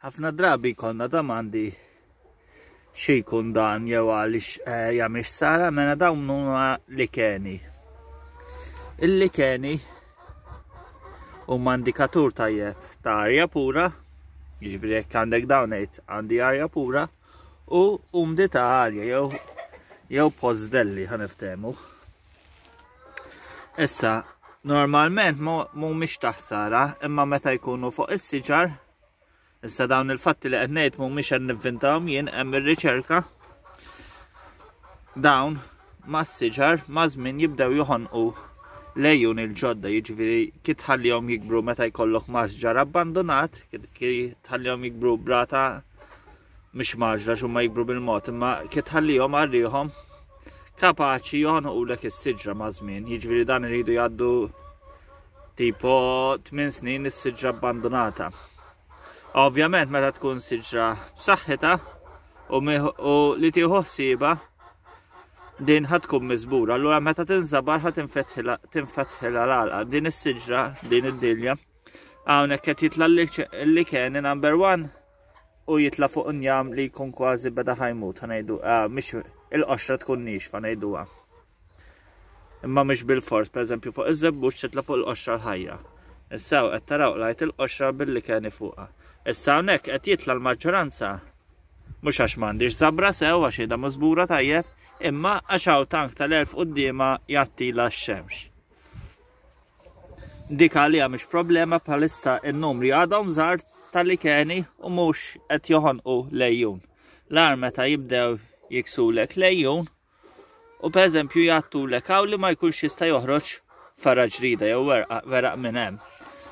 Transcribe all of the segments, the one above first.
Ħafna drabi jkollna domandi xi jkun dan jew għaliex eh, jagħmel ħsara mela dawn huma likeni. Il-likeni huma indikatur tajjeb ta' arja pura, jiġifieri jekk għandek dawn ngħid għandi arja pura u umdità għalja jew jew pożdelli ħaniftehmu. Issa, normalment mhumiex ta' ħsara, imma meta jkunu fuq is-siġar, issa dawn il-fatti li qed ngħid mhumiex qed nivvintahom jien hemm ir-riċerka. Dawn mas-siġar ma' żmien jibdew joħonqu lejun il-ġodda, jiġifieri kif tħallihom jikbru meta jkollok masġar abbandonat, kif tħallihom jikbru brata mhux maġla x'huma jikbru bil-mod, imma kif tħallihom għarrihom kapaċi joħonqulek is-siġra ma' żmien, jiġifieri dan iridu jgħaddu tipo 8 snin is-siġra abbandonata. Ovvjament meta tkun siġra b'saħħitha u, u li tieħu ħsieba din ħad tkun miżbura, allura meta tinżabar ħad tinfetħilha l-għalqa. Din is-siġra, din id-dilja, hawnhekk qed jitla' l-likeni number one u jitla' fuq njam li jkun kważi beda ħajmut, ħanejdu, ah, mhix il-qoxra tkun nixfa ngħiduha. Imma mhux bil-fors, pereżempju fuq iż-żebbuġ titla' fuq il-qoxra l-ħajja. Issa qed taraw qlajt il-qoxra billi keni fuqha. Issa hawnhekk qed jitla' l-maġġoranza mhux għax m'għandix żabra sew għax qiegħda miżbura tajjeb, imma għax hawn tank tal-elf quddiemha jgħattila x-xemx. Dik għalija mhix problema bħalissa n-numri għadhom żgħar tal-likeni u mhux qed joħonqu lejjun. L-agħar meta jibdew jiksulek lejjun u pereżempju jgħattulek hawn li ma jkunx jista' joħroġ fergħa ġrida jew weraq minn hemm.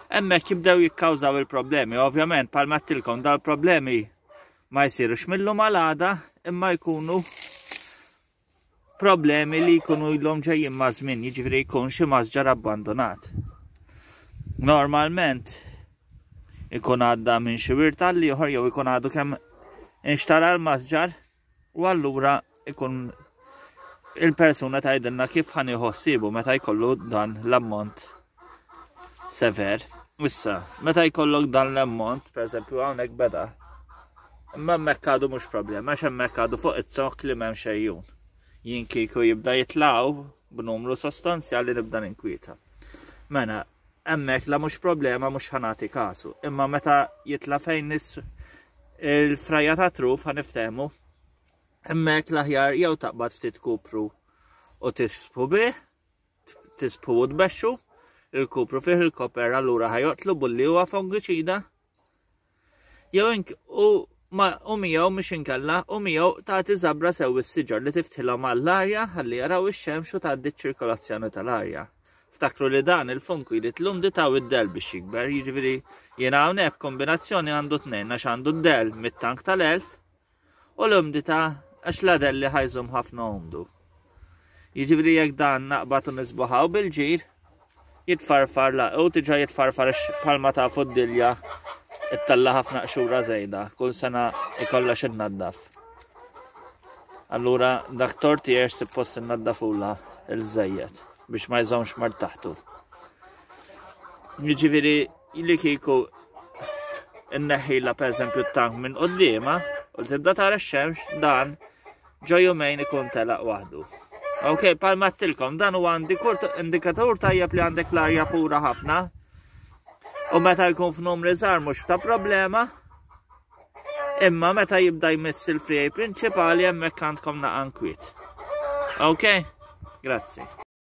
Hemmhekk jibdew jikkawżaw il-problemi. Ovvjament bħalma għedtilkom dal-problemi ma jsirux mill-lum għal għada imma jkunu problemi li jkunu ilhom ġejjin ma' żmien, jiġifieri jkun xi masġar abbandonat. Normalment ikun għadda minn xi wirt għal ieħor jew ikun għadu kemm inxtara l-masġar u allura ikun il-persuna tgħidilna kif ħan ħsibu meta jkollu dan l-ammont sever. Issa, meta jkollok dan l-ammont, per eżempju hawnhekk beda, imma hemmhekk għadu mhux problema, għax hemmhekk għadu fuq iz-zokk li m'hemm xejjun. Jien kieku jibda jitlaqgħu b'numru sostanzjali nibda ninkwieta. Mela, hemmhekk la mhux problema mhux ħanati kasu. Imma meta jitla' fejn nis il-frajja ta' truf ħaniftehmu, hemmhekk l-aħjar jew taqbad ftit kupru u tisbu bih, tisbħu u tbexxu, il-kupru fih il-koper allura ħajoqtlu bulli huwa fungiċida. Jew u ma u miegħu mhux inkella u miegħu tagħti żabra sew is-siġar li tiftħilhom għall-arja ħalli jaraw ix-xemx u tgħaddi ċ-ċirkolazzjoni tal-arja. Ftakru li dan il-funku jrid l-umdità u d-del biex jikber, jiġifieri jiena hawnhekk kombinazzjoni għandu tnejn għax għandu d-del mit-tank tal-elf U l-umdità għax l-adelli ħa jżomm ħafna umdu. Jiġifieri jekk dan naqbad u nisbuħaw bil-ġir, jitfarfar la u tiġa jitfarfar għax bħalma tafu d-dilja ittella ħafna qxura żejda, kull sena ikollha xi tnaddaf. Allura dak tortier suppost innaddafula il-żejjed biex ma jżommx mar taħtu. Jiġifieri li kieku inneħħila pereżempju t-tank minn quddiema u tibda tara x-xemx dan ġo jumejn ikun telaq waħdu. Ok, palma tilkom, dan huwa indikatur tajjeb li għandek l-arja pura ħafna. U meta jkun f'numri żgħar mhux ta' problema. Imma meta jibda jmiss il-frijaj prinċipali hemmhekk għandkom naqan kwiet. Ok, grazzi.